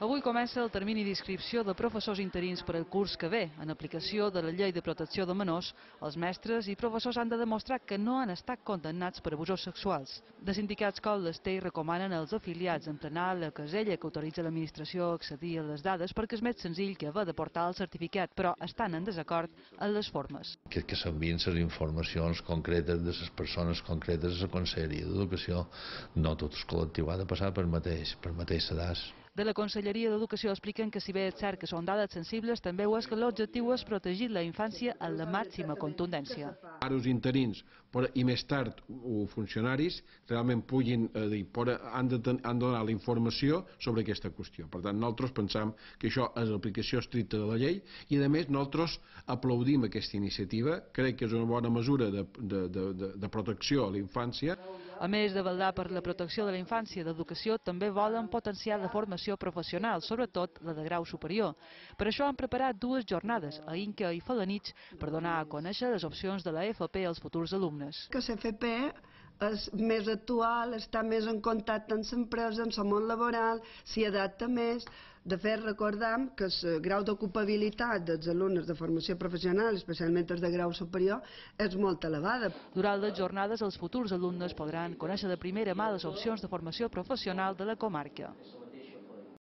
Avui comença el termini d'inscripció de professors interins per al curs que ve. En aplicació de la Llei de Protecció de Menors, els mestres i professors han de demostrar que no han estat condemnats per abusos sexuals. De sindicats com l'Estei recomanen als afiliats emplenar la casella que autoritza l'administració a accedir a les dades perquè és més senzill que haver de portar el certificat, però estan en desacord en les formes. Que s'envien les informacions concretes de les persones concretes a la Conselleria d'Educació. No tot el col·lectiu ha de passar per mateix sedàs. De la Conselleria d'Educació expliquen que si bé és cert que són dades sensibles, també ho és que l'objectiu és protegir la infància amb la màxima contundència. Ara els interins i més tard els funcionaris realment han de donar la informació sobre aquesta qüestió. Per tant, nosaltres pensam que això és l'aplicació estricta de la llei i, a més, nosaltres aplaudim aquesta iniciativa. Crec que és una bona mesura de protecció a la infància. A més de vetllar per la protecció de la infància i d'educació, també volen potenciar la formació professional, sobretot la de grau superior. Per això han preparat dues jornades, a Inca i Felanitx, per donar a conèixer les opcions de la FP als futurs alumnes. Que l'FP és més actual, està més en contacte amb l'empresa, amb el món laboral, s'hi adapta més. De fet, recordem que el grau d'ocupabilitat dels alumnes de formació professional, especialment els de grau superior, és molt elevada. Durant les jornades, els futurs alumnes podran conèixer de primera mà les opcions de formació professional de la comarca.